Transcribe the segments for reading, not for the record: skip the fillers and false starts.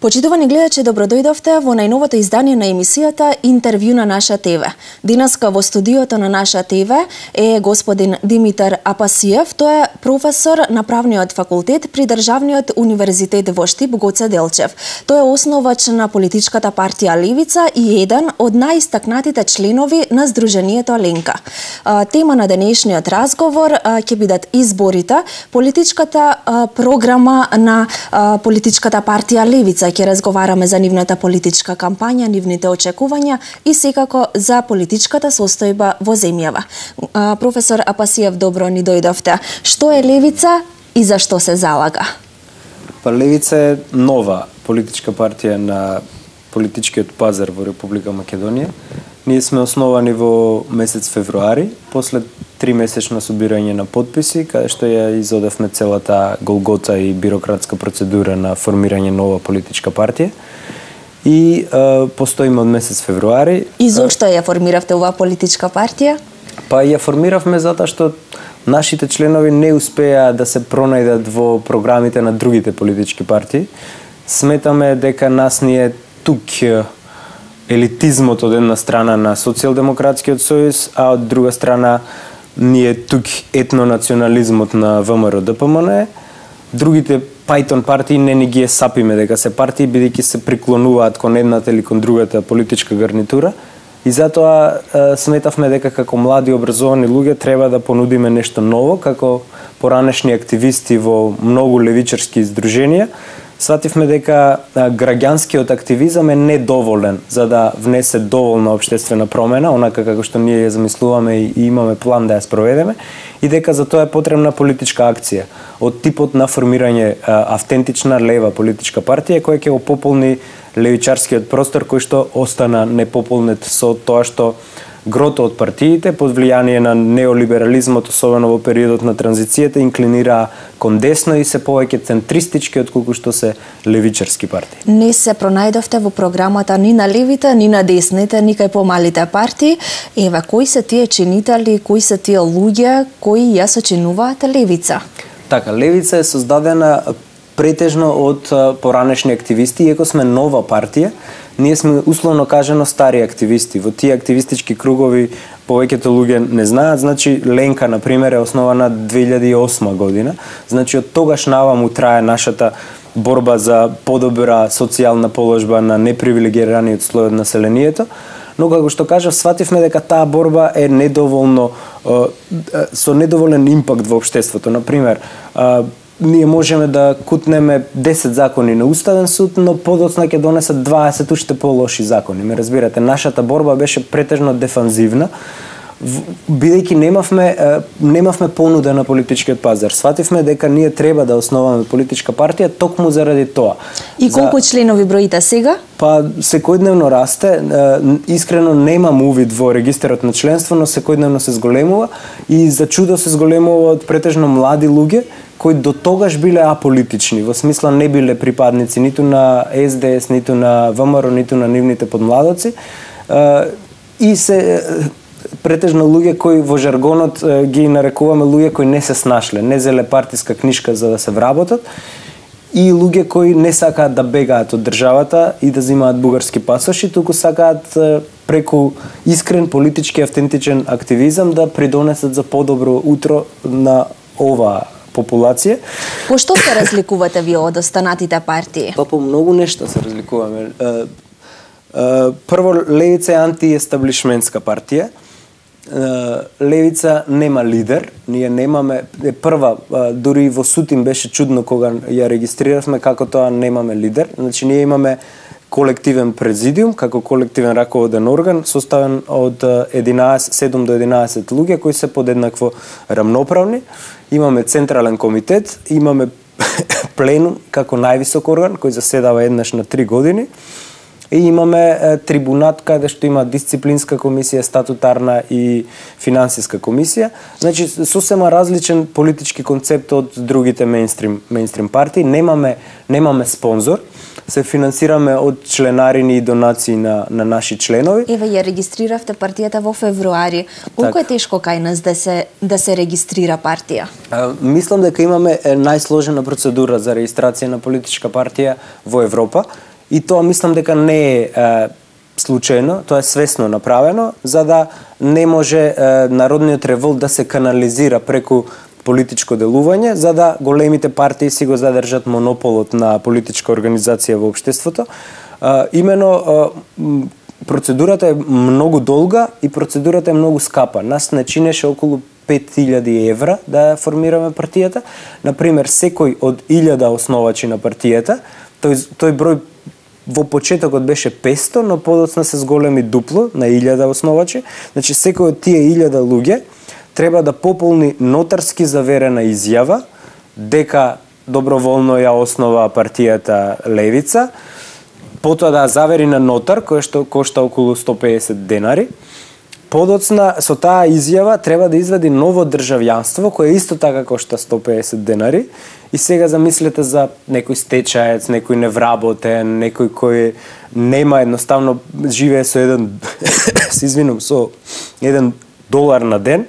Почитувани гледачи, добродојдовте во најновото издание на емисијата Интервју на Наша ТВ. Денеска во студиото на Наша ТВ е господин Димитар Апасиев. Тој е професор на Правниот факултет при Државниот универзитет во Штип Гоце Делчев. Тој е основач на политичката партија Левица и еден од најистакнатите членови на Сдруженијето Ленка. Тема на денешниот разговор ќе бидат изборите, политичката програма на политичката партија Левица. Ќе разговараме за нивната политичка кампања, нивните очекувања и секако за политичката состојба во земјава. Професор Апасиев, добро ни дојдовте. Што е Левица и за што се залага? Левица е нова политичка партија на политичкиот пазар во Република Македонија. Ние сме основани во месец февруари, после 3-месечно собирање на подписи, каде што ја изодевме целата голгота и бирократска процедура на формирање нова политичка партија. И постоиме од месец февруари. И зошто ја формиравте оваа политичка партија? Па ја формиравме затоа што нашите членови не успеа да се пронајдат во програмите на другите политички партии. Сметаме дека нас ни е тук елитизмот од една страна на Социјалдемократскиот сојуз, а од друга страна ни е тук етнонационализмот на ВМРО ДПМН. Другите пајтон партии не ни ги е сапиме дека се партии, бидејќи се приклонуваат кон едната или кон другата политичка гарнитура. И затоа сметавме дека како млади образовани луѓе треба да понудиме нешто ново, како поранешни активисти во многу левичарски здруженија. Свативме дека граѓанскиот активизам е недоволен за да внесе доволна општествена промена, онака како што ние ја замислуваме и имаме план да ја спроведеме, и дека за тоа е потребна политичка акција од типот на формирање автентична лева политичка партија која ќе го пополни левичарскиот простор кој што остана непополнет со тоа што грото од партиите под влијание на неолиберализмот, особено во периодот на транзицијата, инклинираа кон десно и се повеќе центристички отколку што се левичарски партии. Не се пронајдовте во програмата ни на левите, ни на десните, ни кај помалите партии. Еве, кои се тие чинители, кои се тие луѓе кои ја сочинуваат Левица? Така, Левица е создадена претежно од поранешни активисти, иако сме нова партија. Ние сме условно кажано стари активисти. Во тие активистички кругови повеќето луѓе не знаат. Значи Ленка на пример е основана 2008 година. Значи од тогаш наваму трае нашата борба за подобра социјална положба на непривилегираниот слој од населението. Но како што кажав, свативме дека таа борба е недоволно со недоволен импакт во општеството. На пример, ние можеме да кутнеме 10 закони на Уставен суд, но подоцна ќе донесат 20 уште полоши закони. Ме разбирате, нашата борба беше претежно дефанзивна, бидејќи немавме понуда на политичкиот пазар. Свативме дека ние треба да основаме политичка партија токму заради тоа. И колку членови броите сега? Па секојдневно расте. Искрено немам увид во регистарот на членство, но секојдневно се зголемува и за чудо се зголемува од претежно млади луѓе кои до тогаш биле аполитични, во смисла не биле припадници ниту на СДС, ниту на ВМРО, ниту на нивните подмладоци. И се претежно луѓе кои во жаргонот ги нарекуваме луѓе кои не се снашле, не зеле партиска книшка за да се вработат, и луѓе кои не сакаат да бегаат од државата и да земаат бугарски пасоши, туку сакаат преку искрен политички автентичен активизам да придонесат за подобро утро на оваа популација. По што се разликувате вие од останатите партии? Па по многу нешта се разликуваме. Прво, Левица е антиестаблишментска партија. Левица нема лидер, ние немаме, прва, дури во Сутин беше чудно кога ја регистриравме како тоа немаме лидер. Значи ние имаме колективен президиум, како колективен раководен орган, составен од 7 до 11 луѓе кои се подеднакво рамноправни. Имаме централен комитет, имаме пленум како највисок орган кој заседава еднаш на 3 години. И имаме трибунат каде што има дисциплинска комисија, статутарна и финансиска комисија. Значи сосема различен политички концепт од другите мејнстрим партии. Немаме спонзор. Се финансираме од членарини и донации на наши членови. Еве ја регистриравте партијата во февруари. Колку е тешко кај нас да се регистрира партија? Мислам дека имаме најсложена процедура за регистрација на политичка партија во Европа. и тоа мислам дека не е случајно, тоа е свесно направено, за да не може народниот револт да се канализира преку политичко делување, за да големите партии си го задржат монополот на политичка организација во општеството. Имено процедурата е многу долга и процедурата е многу скапа. Нас не чинеше околу 5000 евра да формираме партијата. Например, секој од 1000 основачи на партијата, тој број во почетокот беше 500, но подоцна се зголеми дупло на 1000 основачи. Значи, секој од тие 1000 луѓе треба да пополни нотарски заверена изјава дека доброволно ја основа партијата Левица, потоа да завери на нотар, кој што кошта околу 150 денари. Подоцна со таа изјава треба да извади ново државјанство, кое исто така кошта 150 денари. И сега замислете за некој стечаец, некој невработен, некој кој нема, едноставно живее со еден со $1 на ден,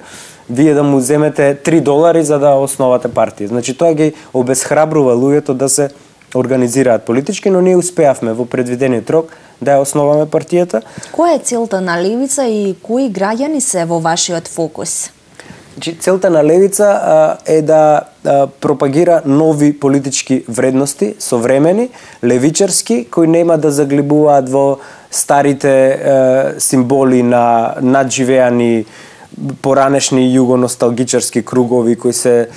вие да му земете $3 за да основате партија. Значи тоа ги обесхрабрува луѓето да се организираат политички, но ние успеавме во предвидениот рок да ја основаме партијата. Која е целта на Левица и кои граѓани се во вашиот фокус? Значи, целта на Левица е да пропагира нови политички вредности, современи, левичарски, кои нема да заглибуваат во старите символи на надживеани поранешни југоносталгичарски кругови кои се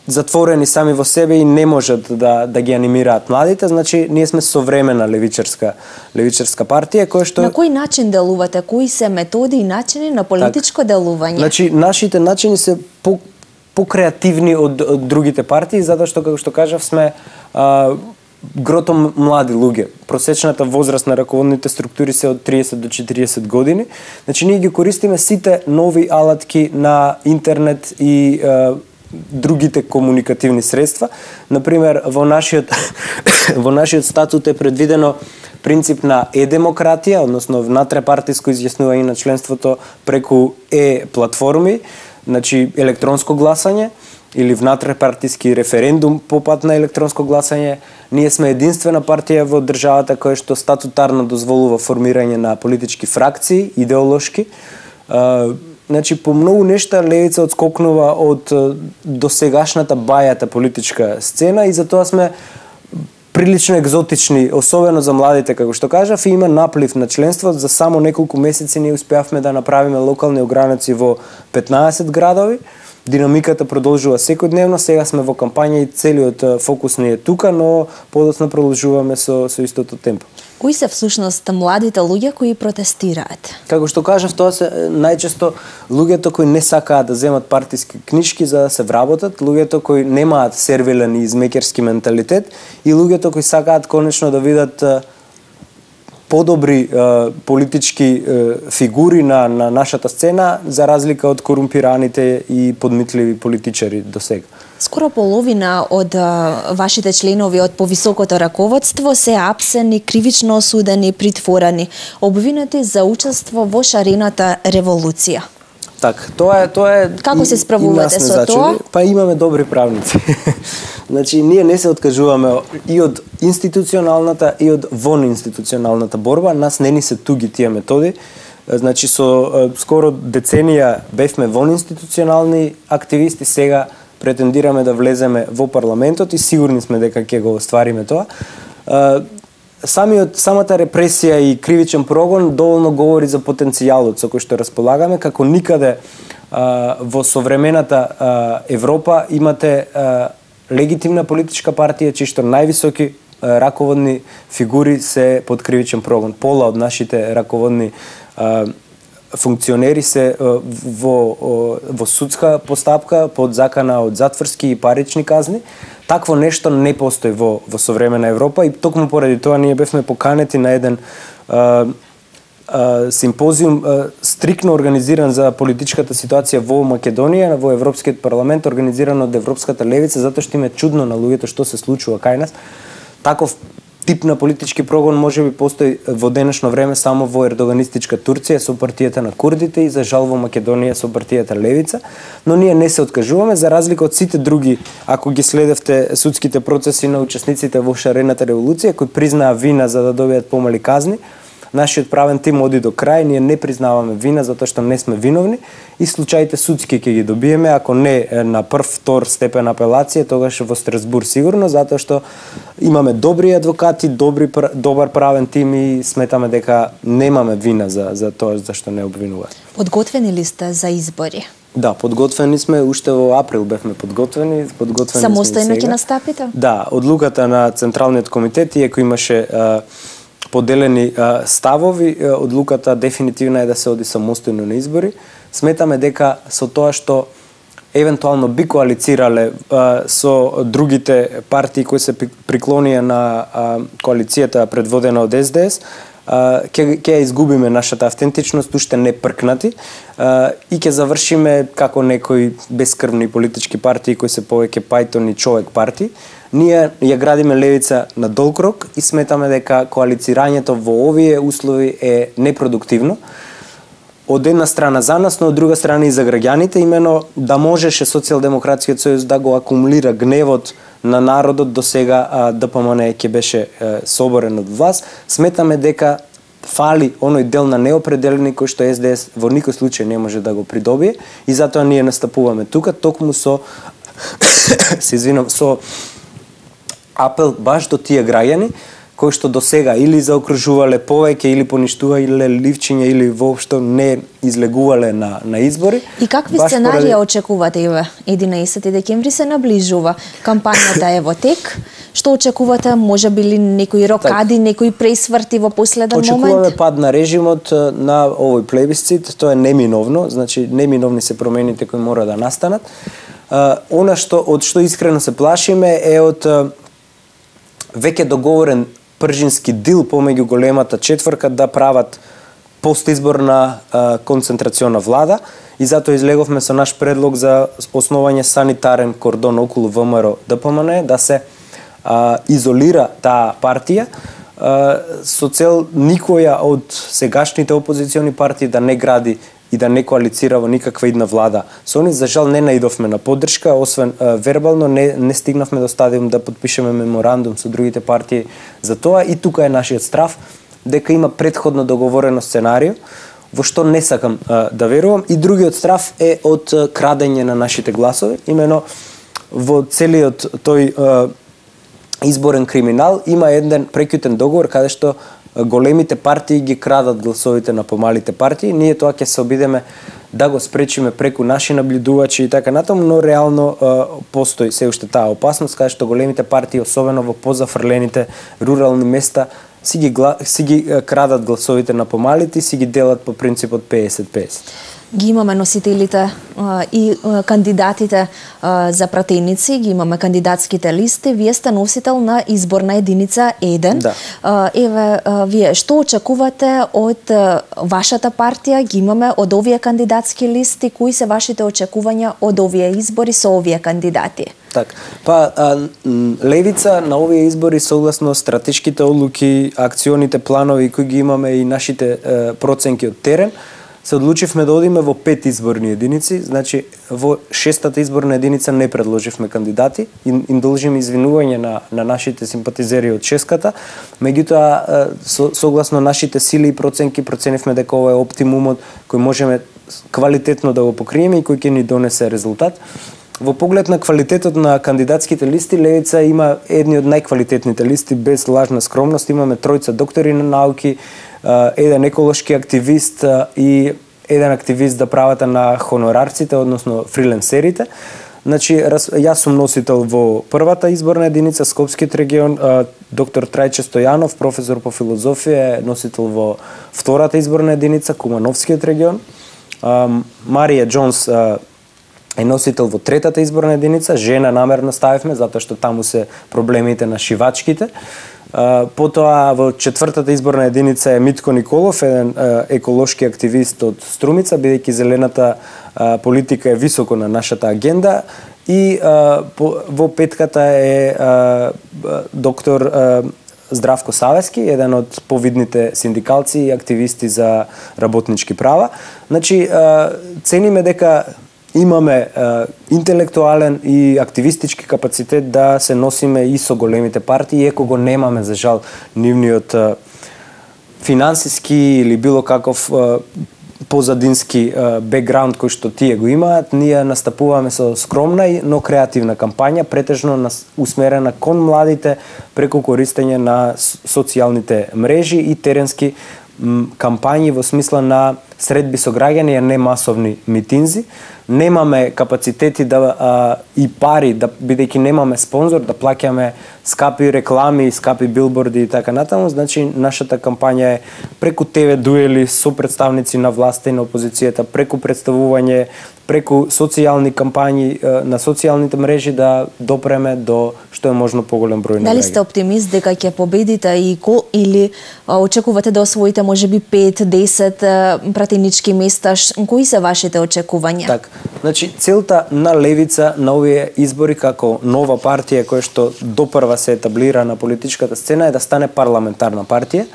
затворени сами во себе и не можат да ги анимираат младите. Значи, ние сме современа левичарска партија која што... На кој начин делувате? Кои се методи и начини на политичко делување? Значи, нашите начини се покреативни од другите партии, затоа што, како што кажав, сме грото млади луѓе. Просечната возраст на раководните структури се од 30 до 40 години. Значи, ние ги користиме сите нови алатки на интернет и другите комуникативни средства. Например, во нашиот статут е предвидено принцип на е-демократија, односно внатрепартиско изјаснување на членството преку е-платформи, значи електронско гласање или внатрепартиски референдум по пат на електронско гласање. Ние сме единствена партија во државата која што статутарно дозволува формирање на политички фракции, идеолошки. Значи, по многу нешта Левица одскокнува од досегашната бајата политичка сцена и затоа сме прилично екзотични, особено за младите, како што кажав, и има наплив на членство. За само неколку месеци ние успеавме да направиме локални огранаци во 15 градови. Динамиката продолжува секојдневно, сега сме во кампања и целиот фокус не е тука, но подоцна продолжуваме со истото темпо. Кои се всушност младите луѓе кои протестираат? Како што кажав, тоа се најчесто луѓето кои не сакаат да земат партиски книжки за да се вработат, луѓето кои немаат сервилен и измекерски менталитет и луѓето кои сакаат конечно да видат подобри политички фигури на нашата сцена, за разлика од корумпираните и подмитливи политичари до сега. Скоро половина од вашите членови од повисокото раководство се апсени, кривично осудени, притворени, обвинети за учество во шарената револуција. Так, тоа е Како се справувате со тоа? Па имаме добри правници. Значи, ние не се откажуваме и од институционалната и од вонинституционалната борба. Нас не ни се туги тие методи. Значи, со скоро деценија бевме вонинституционални активисти, сега претендираме да влеземе во парламентот и сигурни сме дека ќе го оствариме тоа. Самата репресија и кривичен прогон доволно говори за потенцијалот со кој што располагаме, како никаде во современата Европа имате легитимна политичка партија чии што највисоки раководни фигури се под кривичен прогон. Пола од нашите раководни функционери се во судска постапка под закана од затворски и парични казни. Такво нешто не постои во современа Европа и токму поради тоа ние бевме поканети на еден симпозиум стрикно организиран за политичката ситуација во Македонија, во Европскиот парламент, организиран од Европската левица, затоа што им е чудно на луѓето што се случува кај нас. Таков тип на политички прогон можеби постои во денешно време само во ердоганистичка Турција со партијата на курдите и за жал во Македонија со партијата Левица, но ние не се откажуваме за разлика од сите други, ако ги следевте судските процеси на учесниците во шарената револуција кои признаа вина за да добијат помали казни. Нашиот правен тим оди до крај, ние не признаваме вина затоа што не сме виновни и случаите судски ќе ги добиеме, ако не на прв, втор степен апелација, тогаш во Страсбург сигурно, затоа што имаме добри адвокати, добар правен тим и сметаме дека немаме вина за тоа за што не обвинуваат. Подготвени ли сте за избори? Да, подготвени сме, уште во април бевме подготвени Самостојно ќе настапите? Да, одлуката на Централниот комитет, иако имаше поделени ставови, одлуката дефинитивна е да се оди самостојно на избори. Сметаме дека со тоа што евентуално би коалицирале со другите партии кои се приклонија на коалицијата предводена од СДС, ќе изгубиме нашата автентичност, уште не пркнати, и ќе завршиме како некои бескрвни политички партии кои се повеќе пајтон и човек партии. Ние ја градиме Левица на долг рок и сметаме дека коалицирањето во овие услови е непродуктивно. Од една страна за нас, но од друга страна и за граѓаните, имено да можеше Социјалдемократскиот сојуз да го акумулира гневот на народот до сега ДПМН ќе беше соборен од власт. Сметаме дека фали оној дел на неопределени кој што СДС во никој случај не може да го придобие и затоа ние настапуваме тука токму со со апел баш до тие граѓани кои што до сега или заокружувале повеќе или поништувале ливчиња или воопшто не излегувале на избори. И какви сценарија очекувате еве 11 декември се наближува, кампањата е во тек. Што очекувате, можеби ли некои рокади, некои пресврти во последен момент? Очекуваме пад на режимот на овој плебисцит, тоа е неминовно, значи неминовни се промените кои мора да настанат. Она од што искрено се плашиме е од веќе договорен пржински дил помеѓу големата четворка да прават постизборна концентрациона влада и затоа излеговме со наш предлог за основање санитарен кордон околу ВМРО ДПМН, да се изолира таа партија со цел никоја од сегашните опозициони партии да не гради и да не коалицира во никаква идна влада. Со они за жал не наидовме на поддршка, освен вербално не стигнавме до стадиум да подпишеме меморандум со другите партии за тоа и тука е нашиот страв дека има претходно договорено сценарио во што не сакам да верувам и другиот страв е од крадење на нашите гласови, имено во целиот тој изборен криминал има еден прекјутен договор каде што големите партии ги крадат гласовите на помалите партии. Ние тоа ќе се обидеме да го спречиме преку наши наблюдувачи и така натаму, но реално постои се уште таа опасност каде што големите партии, особено во позафрлените рурални места, си ги крадат гласовите на помалите и си ги делат по принципот 50-50. Ги имаме носителите и кандидатите за пратеници, ги имаме кандидатските листи. Вие сте носител на изборна единица 1. Да. Еве, вие што очекувате од вашата партија? Ги имаме од овие кандидатски листи. Кои се вашите очекувања од овие избори со овие кандидати? Так, Левица на овие избори согласно стратешките одлуки, акционите планови кои ги имаме и нашите проценки од терен, се одлучивме да одиме во 5 изборни единици, значи во 6-та изборна единица не предложивме кандидати, им должиме извинување на нашите симпатизери од 6-ката, меѓутоа согласно нашите сили и проценки проценивме дека ова е оптимумот кој можеме квалитетно да го покриеме и кој ќе ни донесе резултат. Во поглед на квалитетот на кандидатските листи, Левица има едни од најквалитетните листи, без лажна скромност. Имаме тројца доктори на науки, еден еколошки активист и еден активист за правата на хонорарците, односно фриленсерите. Значи, јас сум носител во првата изборна единица, Скопскиот регион, доктор Трајче Стојанов, професор по филозофија, е носител во втората изборна единица, Кумановскиот регион. Марија Джонс е носител во третата изборна единица, жена намерно ставивме, затоа што таму се проблемите на шивачките. Потоа во четвртата изборна единица е Митко Николов, еден еколошки активист од Струмица, бидејќи зелената политика е високо на нашата агенда. И во петката е доктор Здравко Савески, еден од повидните синдикалци и активисти за работнички права. Значи, цениме дека имаме интелектуален и активистички капацитет да се носиме и со големите партии, иако го немаме, за жал, нивниот финансиски или било каков позадински бекграунд кој што тие го имаат. Ние настапуваме со скромна, но креативна кампања, претежно усмерена кон младите преку користење на социјалните мрежи и теренски кампањи во смисла на средби со граѓани, а не масовни митинзи. Немаме капацитети и пари, бидејќи немаме спонзор, да плаќаме скапи реклами, скапи билборди и така натаму. Значи, нашата кампања е преку ТВ дуели со представници на власта и на опозицијата, преку представување, преку социјални кампањи на социјалните мрежи да допреме до што е можно поголем број на граѓани. Дали сте оптимист дека ќе победите или очекувате да освоите можеби 5-10 пратенички места? Кои се вашите очекувања? Так, значи целта на левица на овие избори како нова партија која што допрва се етаблира на политичката сцена е да стане парламентарна партија.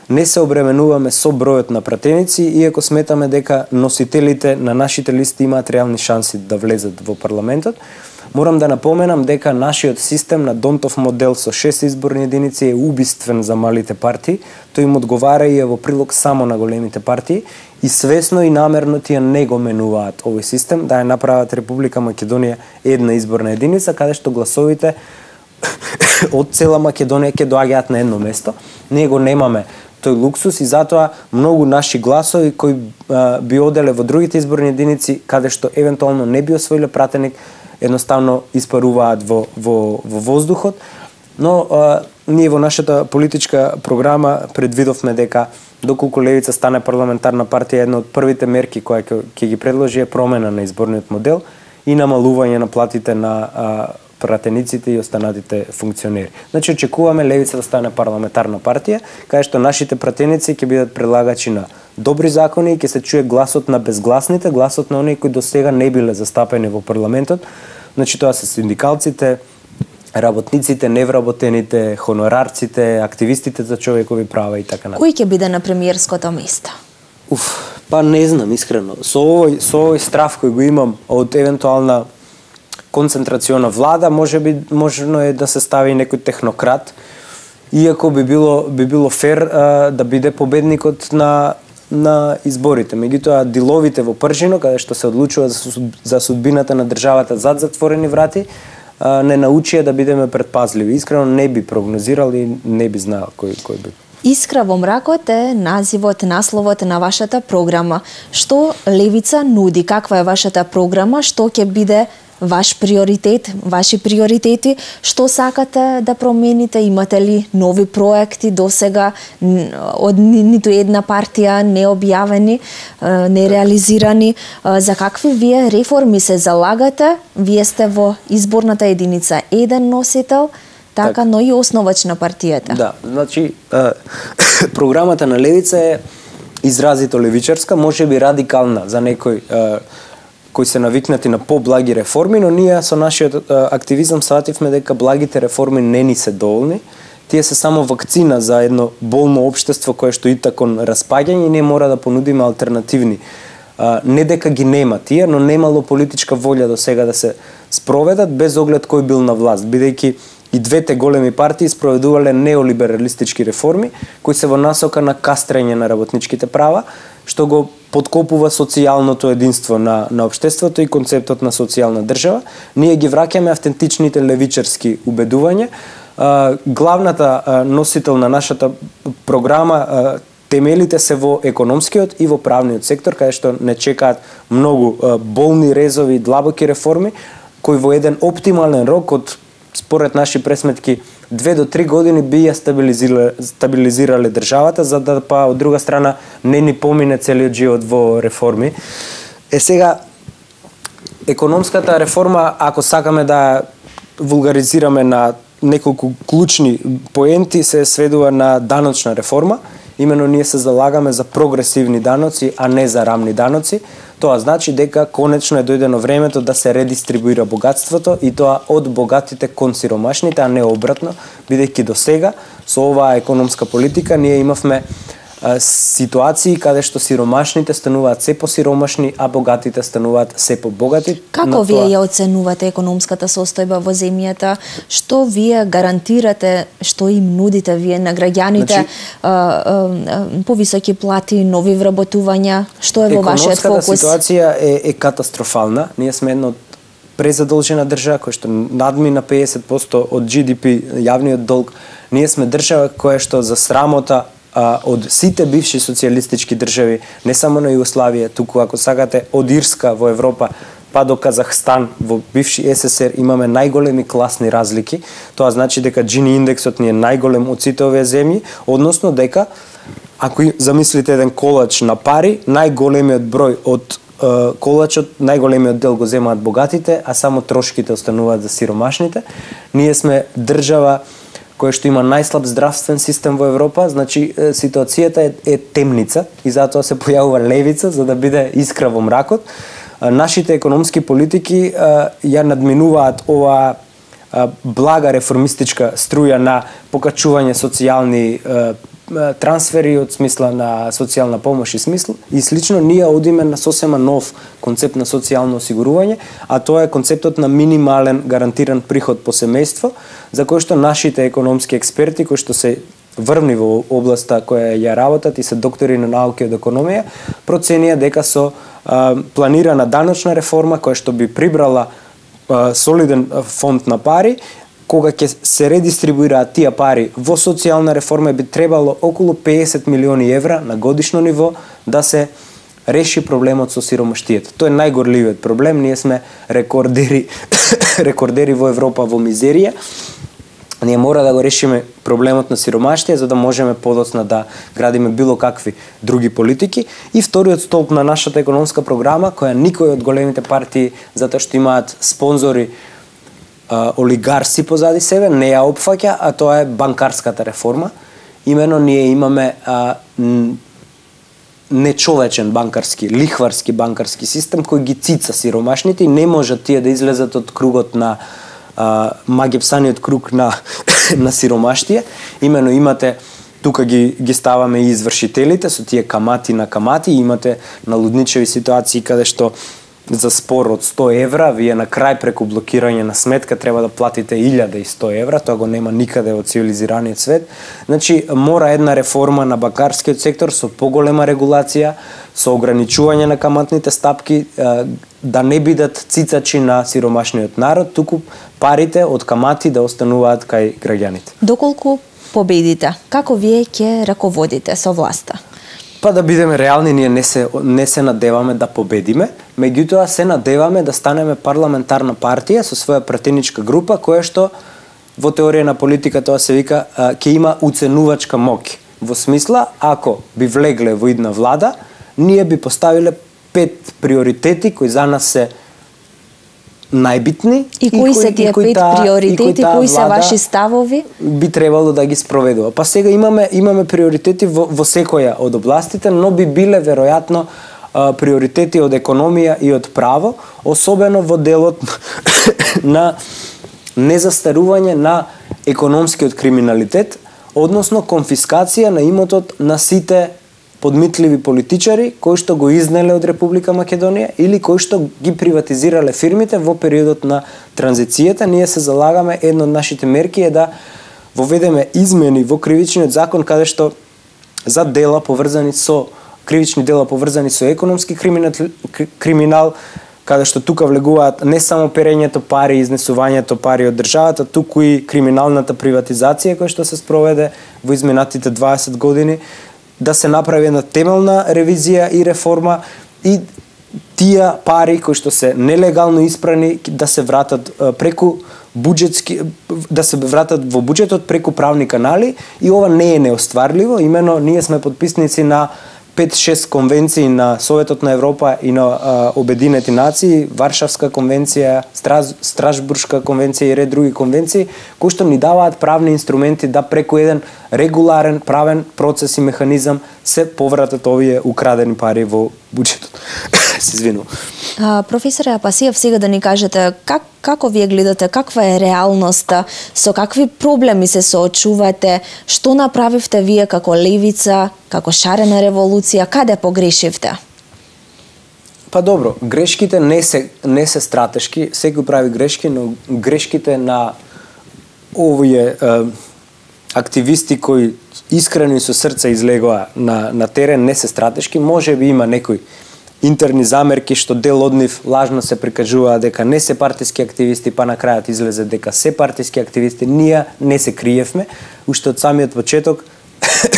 Не се обременуваме со бројот на пратеници, иако сметаме дека носителите на нашите листи имаат реални шанси да влезат во парламентот. Морам да напоменам дека нашиот систем на Донтов модел со 6 изборни единици е убиствен за малите партии. Тој им одговара и е во прилог само на големите партии и свесно и намерно тие не го менуваат овој систем, да ја направат Република Македонија една изборна единица, каде што гласовите од цела Македонија ќе доаѓаат на едно место. Ние го немаме тој луксус и затоа многу наши гласови кои би оделе во другите изборни единици каде што евентуално не би освоиле пратеник, едноставно испаруваат во воздухот. Но ние во нашата политичка програма предвидовме дека доколку левица стане парламентарна партија, една од првите мерки која ќе ги предложи е промена на изборниот модел и намалување на платите на пратениците и останатите функционери. Значи очекуваме левица да стане парламентарна партија, каде што нашите пратеници ќе бидат предлагачи на добри закони и ќе се чуе гласот на безгласните, гласот на оние кои досега не биле застапени во парламентот. Значи тоа се синдикалците, работниците, невработените, хонорарците, активистите за човекови права и така натаму. Кој ќе биде на премиерското место? Па не знам искрено. Со овој страв кој го имам од евентуална концентрациона влада, можно е да се стави некој технократ, иако би било фер да биде победникот на изборите. Меѓутоа, диловите во Пржино, каде што се одлучува за судбината на државата зад затворени врати, не научија да бидеме предпазливи. Искрено не би прогнозирал и не би знаел кој би. Искра во мракот е насловот на вашата програма. Што левица нуди? Каква е вашата програма? Што ќе биде ваш приоритет, ваши приоритети, што сакате да промените, имате ли нови проекти досега од ниту една партија необјавени, нереализирани, за какви вие реформи се залагате? Вие сте во изборната единица еден носител, така, но и основач на партијата. Да, значи програмата на левица е изразито левичарска, можеби радикална за некој кои се навикнати на поблаги реформи, но ние со нашиот активизам свативме дека благите реформи не ни се доволни. Тие се само вакцина за едно болно општество кое што ита кон распаѓање и не мора да понудиме алтернативни. Не дека ги нема тие, но немало политичка волја до сега да се спроведат без оглед кој бил на власт, бидејќи и двете големи партии спроведувале неолибералистички реформи кои се во насока на кастрење на работничките права, што го подкопува социјалното единство на општеството и концептот на социјална држава. Ние ги враќаме автентичните левичарски убедувања. Главната носител на нашата програма темелите се во економскиот и во правниот сектор, каде што не чекаат многу болни резови и длабоки реформи, кои во еден оптимален рок од според наши пресметки 2 до 3 години би ја стабилизирале државата, за да па од друга страна не ни помине целиот живот во реформи. Сега економската реформа, ако сакаме да вулгаризираме на неколку клучни поенти, се сведува на даночна реформа. Имено ние се залагаме за прогресивни даноци, а не за рамни даноци. Тоа значи дека конечно е дојдено времето да се редистрибуира богатството и тоа од богатите кон сиромашните, а не обратно, бидејќи до сега со оваа економска политика ние имавме ситуации каде што сиромашните стануваат се посиромашни, а богатите стануваат се побогати. Како вие ја оценувате економската состојба во земјата? Што вие гарантирате, што им нудите вие на граѓаните? Повисоки плати, нови вработувања? Што е во вашиот фокус? Економската ситуација е катастрофална. Ние сме една од презадолжена држава која што надмина 50% од GDP, јавниот долг. Ние сме држава која што за срамота од сите бивши социјалистички држави, не само на Југославија, туку ако сакате од Ирска во Европа па до Казахстан во бивши СССР имаме најголеми класни разлики. Тоа значи дека Джини индексот ни е најголем од сите овие земји, односно дека ако замислите еден колач на пари, најголемиот број од колачот, најголемиот дел го земаат богатите, а само трошките остануваат за сиромашните. Ние сме држава која што има најслаб здравствен систем во Европа, значи ситуацијата е темница и затоа се појавува левица за да биде искра во мракот. Нашите економски политики ја надминуваат оваа блага реформистичка струја на покачување социјални трансфери од смисла на социјална помош и слично. Ние одиме на сосема нов концепт на социјално осигурување, а тоа е концептот на минимален гарантиран приход по семејство, за кој што нашите економски експерти, кои што се врвни во областа која ја работат и се доктори на науки од економија, проценија дека со планирана даночна реформа која што би прибрала солиден фонд на пари, кога ќе се редистрибуираат тие пари во социјална реформа, би требало околу 50 милиони евра на годишно ниво да се реши проблемот со сиромаштието. Тоа е најгорливиот проблем. Ние сме рекордери во Европа во мизерија. Ние мора да го решиме проблемот на сиромаштие за да можеме подоцна да градиме било какви други политики. И вториот столб на нашата економска програма, која никој од големите партии, затоа што имаат спонзори олигарси позади себе, не ја опфаќа, а тоа е банкарската реформа. Имено ние имаме нечовечен банкарски, лихварски банкарски систем кој ги цица сиромашните и не можат тие да излезат од кругот на магепсаниот круг на сиромаштие. Имено имате тука ги ставаме и извршителите со тие камати на камати, имате налудничеви ситуации каде што за спор од 100 евра, вие на крај преку блокирање на сметка треба да платите 1100 евра, тоа го нема никаде во цивилизираниот свет. Значи, мора една реформа на банкарскиот сектор со поголема регулација, со ограничување на каматните стапки, да не бидат цицачи на сиромашниот народ, туку парите од камати да остануваат кај граѓаните. Доколку победите, како вие ќе раководите со власта? Па да бидеме реални, ние не се надеваме да победиме, меѓутоа се надеваме да станеме парламентарна партија со своја пратеничка група, која што во теорија на политика тоа се вика ќе има уценувачка моќ. Во смисла, ако би влегле во идна влада, ние би поставиле 5 приоритети кои за нас се најбитни и кои се тие 5 приоритети, кои се ваши ставови? Би требало да ги спроведува. Па сега имаме приоритети во секоја од областите, но би биле веројатно приоритети од економија и од право, особено во делот на незастарување на економскиот криминалитет, односно конфискација на имотот на сите подмитливи политичари кои што го изнеле од Република Македонија или кои што ги приватизирале фирмите во периодот на транзицијата. Ние се залагаме, една од нашите мерки е да воведеме измени во кривичниот закон каде што за дела поврзани со кривични дела поврзани со економски криминал, каде што тука влегуваат не само перењето пари, изнесувањето пари од државата, туку и криминалната приватизација која што се спроведе во изминатите 20 години, да се направи една темелна ревизија и реформа и тие пари кои што се нелегално испрани да се вратат преку буџетски, да се вратат во буџетот преку правни канали, и ова не е неостварливо. Имено ние сме потписници на 5-6 конвенции на Советот на Европа и на Обединети нации, Варшавска конвенција, Страсбуршка конвенција и ред други конвенции, кои што ни даваат правни инструменти да преку еден регуларен правен процес и механизам се повратат овие украдени пари во буџетот. се извинувам. Професоре Апасиев, сега да ни кажете како вие гледате, каква е реалноста, со какви проблеми се соочувате, што направивте вие како левица, како шарена револуција, каде погрешивте? Па добро, грешките не се стратешки, секој прави грешки, но грешките на овие активисти кои искрено и со срце излегоа на терен не се стратешки. Може би има некои интерни замерки што дел од нив лажно се прикажуваа дека не се партиски активисти, па на крајот излезе дека се партиски активисти. Ние не се криевме, уште од самиот почеток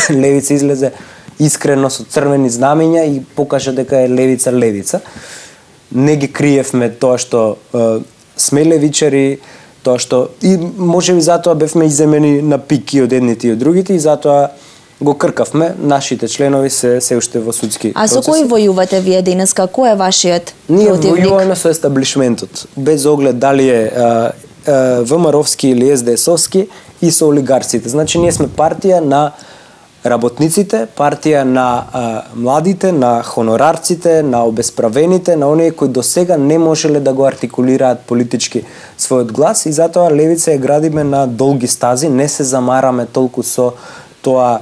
левица излезе искрено со црвени знамиња и покажа дека е левица. Не ги криевме тоа што сме левичари, тоа што и можеби затоа бевме иземени на пик и од едните и од другите и затоа го кркавме. Нашите членови се уште во судски процеси. А со кој војувате вие денеска? Кој е вашиот противник? Ние војуваме со естаблишментот, без оглед дали е ВМРО-вски или СДС-овски и со олигарците. Значи ние сме партија на работниците, партија на младите, на хонорарците, на обесправените, на оние кои до сега не можеле да го артикулираат политички својот глас и затоа левица ја градиме на долги стази, не се замараме толку со тоа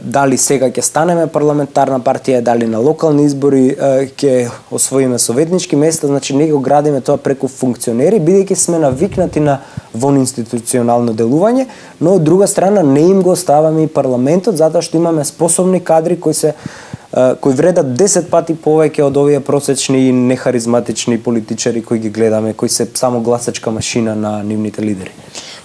дали сега ќе станеме парламентарна партија, дали на локални избори ќе освоиме советнички места, значи не го градиме тоа преку функционери, бидејќи сме навикнати на вонинституционално делување, но од друга страна не им го оставаме и парламентот, затоа што имаме способни кадри кои вредат 10 пати повеќе од овие просечни и нехаризматични политичари кои ги гледаме, кои се само гласачка машина на нивните лидери.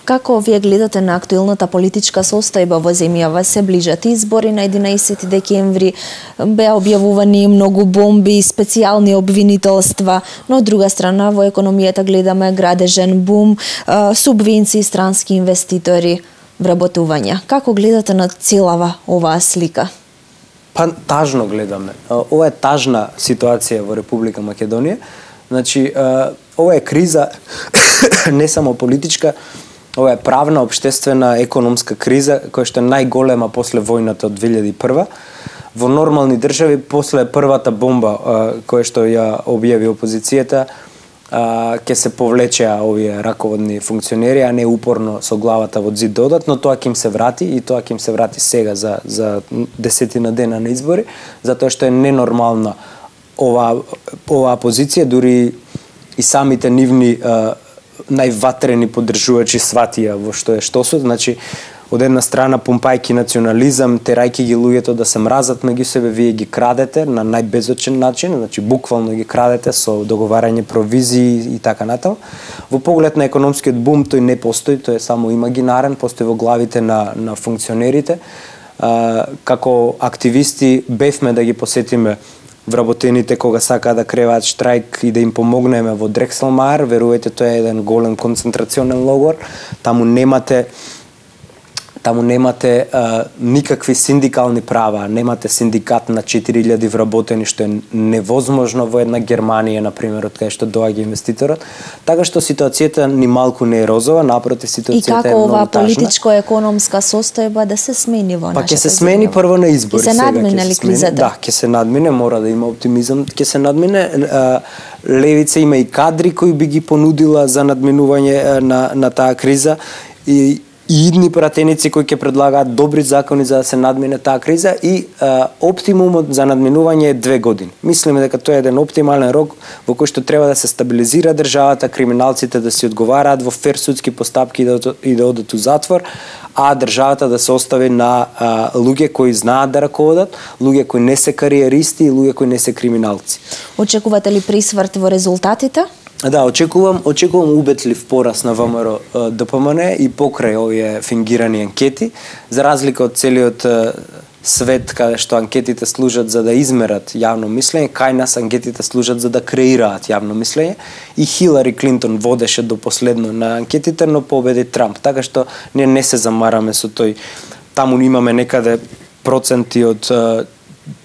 Како вие гледате на актуелната политичка состојба во земјава? Се ближат избори на 11 декември, беа објавувани многу бомби, специјални обвинителства, но од друга страна во економијата гледаме градежен бум, субвенции, странски инвеститори, вработувања. Како гледате на целава оваа слика? Па тажно гледаме. Ова е тажна ситуација во Република Македонија. Значи, ова е криза не само политичка, ова е правна, општествена, економска криза, која што е најголема после војната од 2001. Во нормални држави, после првата бомба која што ја објави опозицијата, ќе се повлечеа овие раководни функционери, а не упорно со главата во зид додат, но тоа ќе им се врати и тоа ќе им се врати сега за 10 дена на избори, затоа што е ненормална оваа позиција, дури и самите нивни најватрени поддржувачи сватија во што е штосот, значи од една страна помпајки национализам, терајки ги луѓето да се мразат меѓу себе, вие ги крадете на најбезочен начин, значи буквално ги крадете со договарање провизии и така натаму. Во поглед на економскиот бум тој не постои, тој е само имагинарен, постои во главите на функционерите. Како активисти бевме да ги посетиме вработените кога сакаат да креваат штрајк и да им помогнеме во Дрекселмаер. Верувајте, тоа е еден голем концентрационен логор. Таму немате никакви синдикални права, немате синдикат на 4000 вработени, што е невозможно во една Германија, например, од кај што доаѓа инвеститорот. Така што ситуацијата ни малку не е розова, напротив, ситуацијата е многу тажна. И како оваа политичко-економска состојба да се смени во нашата Па ќе се смени прво на избори. Ќе се надмине ли кризата? Да, ќе се надмине, мора да има оптимизам, ќе се надмине. Левица има и кадри кои би ги понудила за надминување на таа криза и идни пратеници кои ќе предлагаат добри закони за да се надмине таа криза и оптимумот за надминување е 2 години. Мислиме дека тоа е еден оптимален рок во кој што треба да се стабилизира државата, криминалците да си одговараат во фер судски постапки и да одат у затвор, а државата да се остави на луѓе кои знаат да раководат, луѓе кои не се кариеристи и луѓе кои не се криминалци. Очекувате ли присврт во резултатите? Да, очекувам убедлив порас на ВМРО ДПМН и покрај овие фингирани анкети, за разлика од целиот свет каде што анкетите служат за да измерат јавно мислење, кај нас анкетите служат за да креираат јавно мислење и Хилари Клинтон водеше до последно на анкетите, но победи Трамп, така што ние не се замараме со тој. Таму имаме некаде проценти од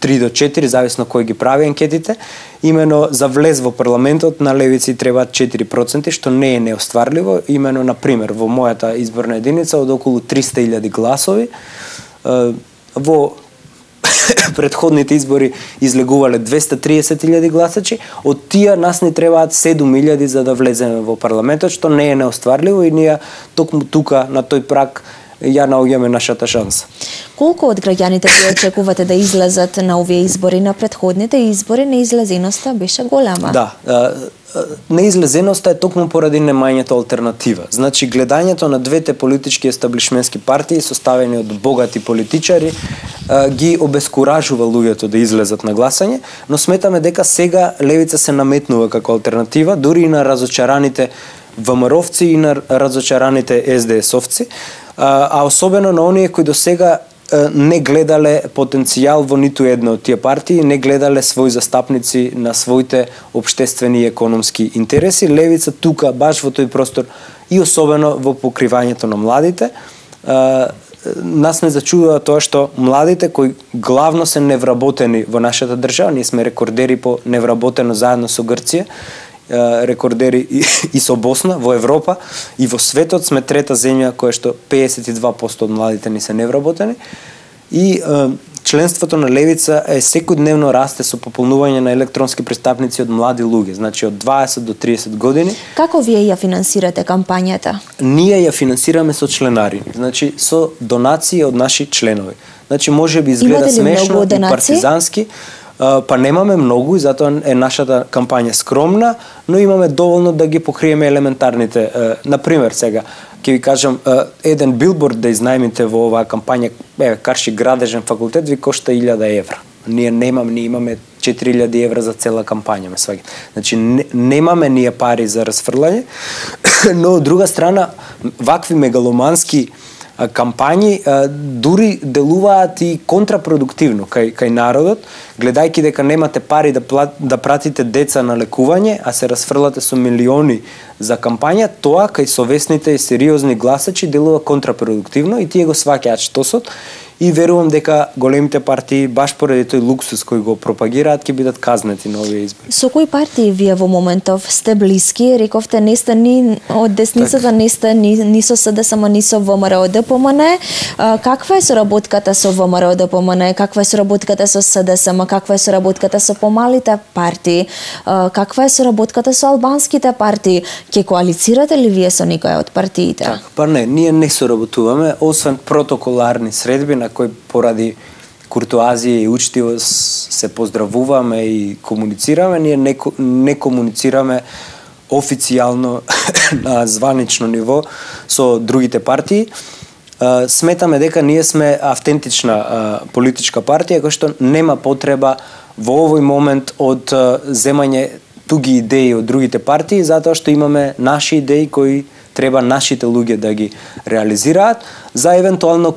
3 до 4, зависно кој ги прави анкетите. Имено за влез во парламентот на левици треба 4%, што не е неостварливо. Имено, например, во мојата изборна единица од околу 300.000 гласови, во предходните избори излегувале 230.000 гласачи, од тие нас ни требаат 7.000 за да влеземе во парламентот, што не е неостварливо и ние токму тука на тој праг ја наоѓаме нашата шанса. Колку од граѓаните ви очекувате да излезат на овие избори? На предходните избори неизлезеноста беше голема. Да, неизлезеноста е токму поради немањето алтернатива. Значи, гледањето на двете политички естаблишментски партии, составени од богати политичари, ги обескуражува луѓето да излезат на гласање, но сметаме дека сега левица се наметнува како алтернатива, дури и на разочараните ВМРО-вци и на разочараните СДС-овци, а особено на оние кои до сега не гледале потенцијал во ниту една од тие партии, не гледале своји застапници на своите општествени и економски интереси. Левица тука, баш во тој простор и особено во покривањето на младите, нас не зачудува тоа што младите кои главно се невработени во нашата држава, ние сме рекордери по невработено заедно со Грција, рекордери и со Босна во Европа и во светот сме трета земја која што 52% од младите ни се невработени и членството на левица е секојдневно расте со пополнување на електронски пристапници од млади луѓе, значи од 20 до 30 години. Како вие ја финансирате кампањата? Ние ја финансираме со членари, значи со донации од наши членови. Значи може би изгледа смешно и партизански, па немаме многу и затоа е нашата кампања скромна, но имаме доволно да ги покриеме елементарните. Например, сега ќе ви кажам, еден билборд да изнајмите во оваа кампања, Карши градежен факултет ви кошта 1000 евра. Ние имаме 4000 евра за цела кампања, ме сваѓате. Значи немаме ние пари за расфрлање, но од друга страна вакви мегаломански кампањи дури делуваат и контрапродуктивно кај народот, гледајќи дека немате пари да пратите деца на лекување, а се расфрлате со милиони за кампања, тоа кај совесните и сериозни гласачи делува контрапродуктивно и тие го сваќаат штосот и верувам дека големите партии баш поради тој луксус кој го пропагираат ќе бидат казнети на овие избори. Со кои партии вие во моментов сте блиски? Рековте не сте ни од десницата, не сте ни со СДСМ, ни со ВМРО ДПМН. Каква е соработката со ВМРО ДПМН? Каква е соработката со СДСМ? Каква е соработката со помалите партии? Каква е соработката со албанските партии? Ќе коалицирате ли вие со некоја од партиите? Так, па не, ние не соработуваме, освен протоколарни средби на кои поради куртуазија и учтивост се поздравуваме и комуницираме, ние не комуницираме официјално на званично ниво со другите партии. Сметаме дека ние сме автентична политичка партија која што нема потреба во овој момент од земање туги идеи од другите партии, затоа што имаме наши идеи кои треба нашите луѓе да ги реализираат. За евентуално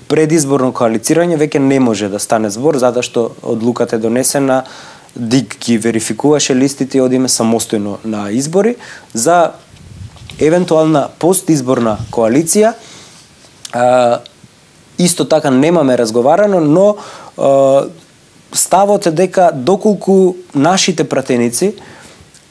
предизборно коалицирање веќе не може да стане збор, затоа што одлуката е донесена, ДИК ги верификуваше листите и одиме самостојно на избори. За евентуална постизборна коалиција исто така немаме разговарано, но ставот е дека доколку нашите пратеници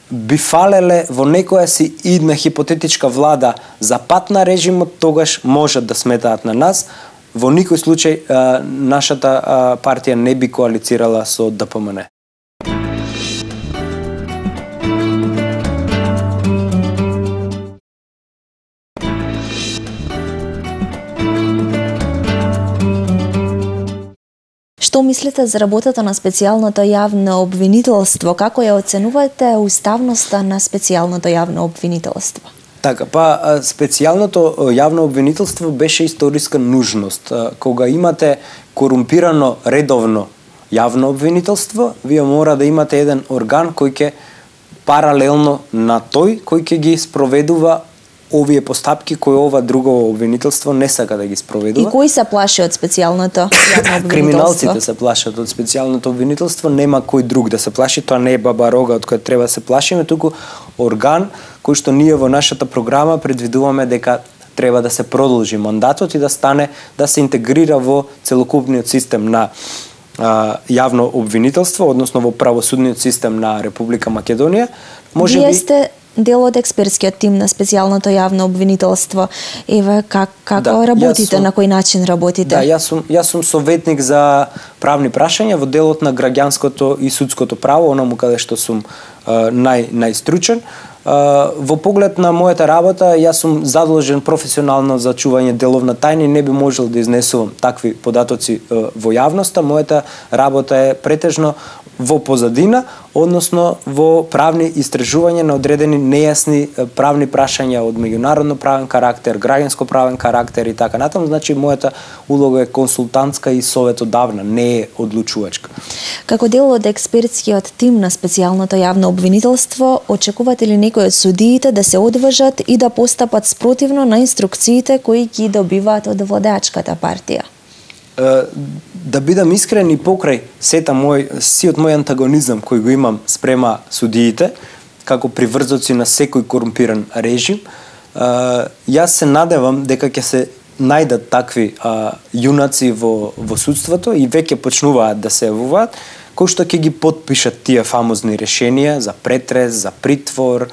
би фалеле во некоја си идна хипотетичка влада за пат на режимот, тогаш можат да сметаат на нас. Во никој случај нашата партија не би коалицирала со ДПМН. Што мислите за работата на специјалното јавно обвинителство? Како ја оценувате уставноста на специјалното јавно обвинителство? Така, па специјалното јавно обвинителство беше историска нужност. Кога имате корумпирано редовно јавно обвинителство, вие мора да имате еден орган кој ќе паралелно на тој кој ќе ги спроведува овие постапки кои ова друго обвинителство не сака да ги спроведува. И кои се плаши од специјалното јавно обвинителство? Криминалците се плашат од специјалното обвинителство, нема кој друг да се плаши, тоа не е баба рога од која треба да се плашиме, туку орган кој што ние во нашата програма предвидуваме дека треба да се продолжи мандатот и да стане, да се интегрира во целокупниот систем на јавно обвинителство, односно во правосудниот систем на Република Македонија. Вие сте дел од експертскиот тим на специјалното јавно обвинителство. Еве како работите, на кој начин работите? Да, јас сум советник за правни прашања во делот на граѓанското и судското право, онаму каде што сум најстручен. Во поглед на мојата работа, јас сум задолжен професионално за чување деловна тајна и не би можел да изнесувам такви податоци во јавноста. Мојата работа е претежно во позадина, односно во правни истражувања на одредени нејасни правни прашања од меѓународно правен карактер, граѓанско правен карактер и така натаму. Значи мојата улога е консултантска и советодавна, не е одлучувачка. Како дел од експертскиот тим на специјалното јавно обвинителство, очекувате ли некои од судиите да се одважат и да постапат спротивно на инструкциите кои ги добиваат од владеачката партија? Да бидам искрен и покрај сиот мој антагонизам кој го имам спрема судиите, како приврзоци на секој корумпиран режим, јас се надевам дека ќе се најдат такви јунаци во судството и веќе почнуваат да се јавуваат, кои што ќе ги потпишат тие фамозни решенија за претрес, за притвор,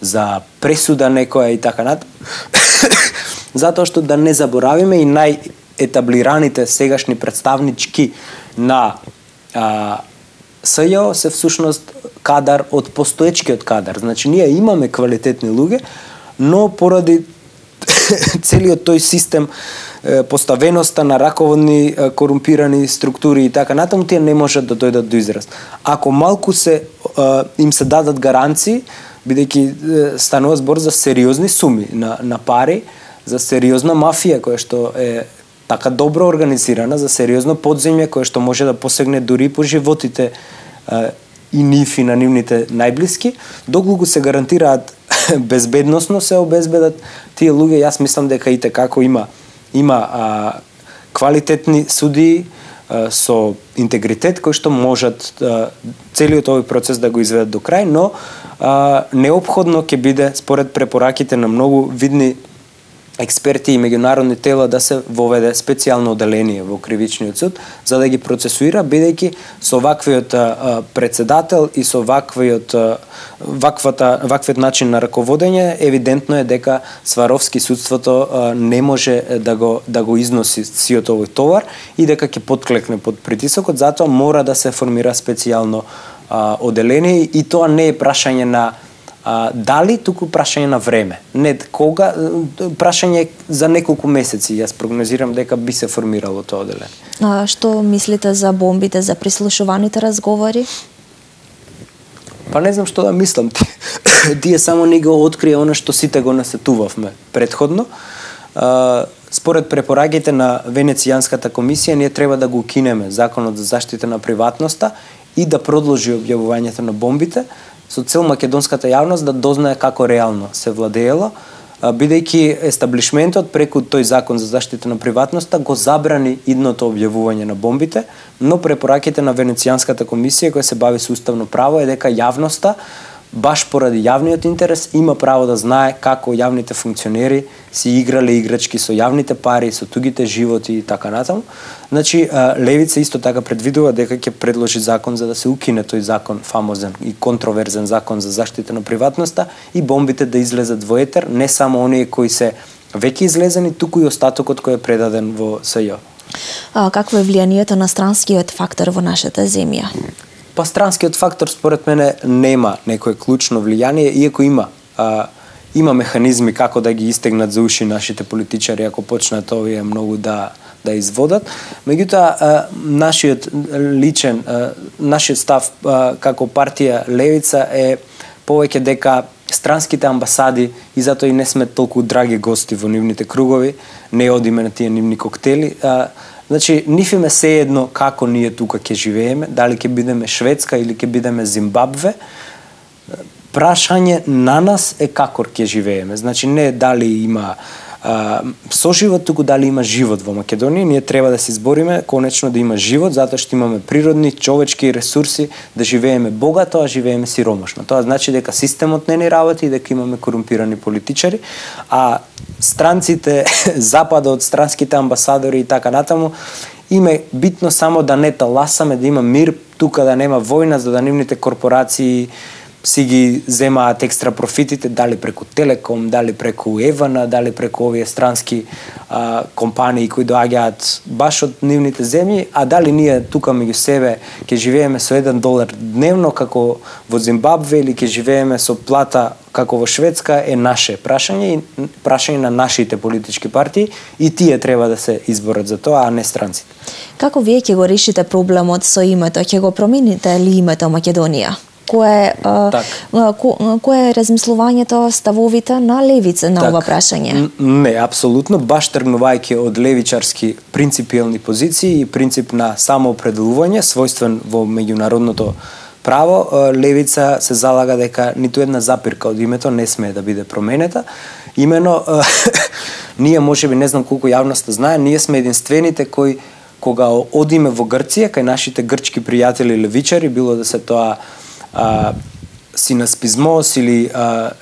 за пресуда некоја и така натаму. Затоа што да не заборавиме и етаблираните сегашни представнички на СЈО се всушност кадар од постоечкиот кадар. Значи, ние имаме квалитетни луѓе, но поради целиот тој систем, поставеноста на раководни корумпирани структури и така натаму, тие не можат да дојдат до израз. Ако малку им се дадат гаранции, бидејќи станува збор за сериозни суми на пари, за сериозна мафија која што е така добро организирана, за сериозно подземје кое што може да посегне дури по животите и нив и на нивните најблиски, доколку се гарантираат безбедносно се обезбедат тие луѓе, јас мислам дека и како има квалитетни судии со интегритет кои што можат целиот овој процес да го изведат до крај, но неопходно ќе биде според препораките на многу видни експерти и меѓународни тела да се воведе специјално оделение во кривичниот суд за да ги процесуира, бидејќи со ваквиот председател и со ваквиот начин на раководење евидентно е дека Сваровски судството не може да го износи сиот овој товар и дека ќе потклекне под притисокот, затоа мора да се формира специјално оделение и тоа не е прашање на дали, туку прашање на време. Не кога, прашање за неколку месеци. Јас прогнозирам дека би се формирало тоа оделение. Што мислите за бомбите, за прислушуваните разговори? Па не знам што да мислам. Тие само не го открија она што сите го насетувавме предходно. Според препораките на Венецијанската комисија, ние треба да го укинеме Законот за заштита на приватноста и да продолжи објавувањето на бомбите, со цел македонската јавност да дознае како реално се владеело, бидејќи естаблишментот преку тој закон за заштита на приватноста го забрани идното објавување на бомбите, но препораките на Венецијанската комисија која се бави со уставно право е дека јавноста баш поради јавниот интерес има право да знае како јавните функционери си играле играчки со јавните пари, со тугите животи и така натаму. Значи, левица исто така предвидува дека ќе предложи закон за да се укине тој закон, фамозен и контроверзен закон за заштита на приватноста и бомбите да излезат во етер, не само оние кои се веќе излезени, туку и остатокот кој е предаден во СЈО. Какво е влијанието на странскиот фактор во нашата земја? Па странскиот фактор според мене нема некое клучно влијание, иако има механизми како да ги истегнат за уши нашите политичари ако почнат овие многу да изводат. Меѓутоа нашиот став како партија Левица е повеќе дека странските амбасади и затоа и не сме толку драги гости во нивните кругови, не одиме на тие нивни коктели. Значи, ниф им е сеедно како ние тука ќе живееме, дали ќе бидеме Шведска или ќе бидеме Зимбабве. Прашање на нас е како ќе живееме. Значи, не дали има соживот, туку дали има живот во Македонија. Ние треба да се избориме конечно да има живот, затоа што имаме природни, човечки ресурси, да живееме богато, а живееме сиромашно. Тоа значи дека системот не ни работи и дека имаме корумпирани политичари, а странците, западот, странските амбасадори и така натаму, им е битно само да не таласаме, да има мир, тука да нема војна, за да нивните корпорации си ги земаат екстра профитите, дали преку Телеком, дали преку Евана, дали преку овие странски компании кои доаѓаат баш од нивните земји, а дали ние тука меѓу себе ќе живееме со $1 дневно како во Зимбабве или ќе живееме со плата како во Шведска е наше прашање и прашање на нашите политички партии и тие треба да се изборат за тоа, а не странците. Како вие ќе го решите проблемот со името? Ќе го промените ли името Македонија? Кое е размислувањето, ставовите на левица на ова прашање? Не, апсолутно, баш тргнувајќи од левичарски принципиелни позиции и принцип на самоопределување, својствен во меѓународното право, левица се залага дека ниту една запирка од името не смее да биде променета. Имено, ние можеби, не знам колку јавноста знае, ние сме единствените кои кога одиме во Грција, кај нашите грчки пријатели левичари, било да се тоа Синаспизмос или